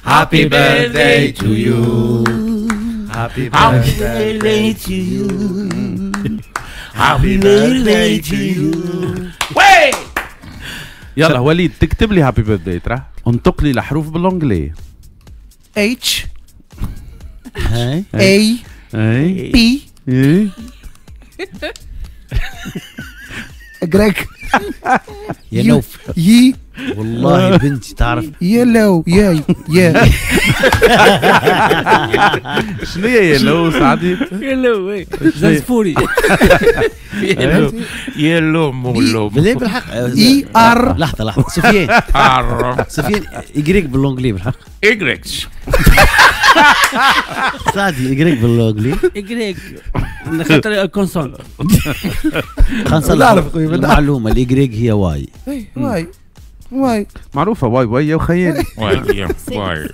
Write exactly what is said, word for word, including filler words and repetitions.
Happy birthday to you. Happy birthday to you. Happy birthday to you. وي. يلا وليد، تكتب لي happy birthday، ترى انطق لي الحروف بال anglais. H هاي. A اي. P اي. Y يا نوف. يي. والله بنتي تعرف. yellow يا يا. شنو هي yellow سعدي؟ yellow زنزفوري. yellow مولو. بالله بالحق. I R. لحظة لحظه، سفيان. R. سفيان، Y بال anglais بالحق؟ Y. سعدي، Y بال anglais؟ Y خاطر consonne. خلينا نصلح نعرف خويا، بنعرف. المعلومه، ال Y هي Y. Y Y. معروفه، Y Y يا وخيالي. Y Y.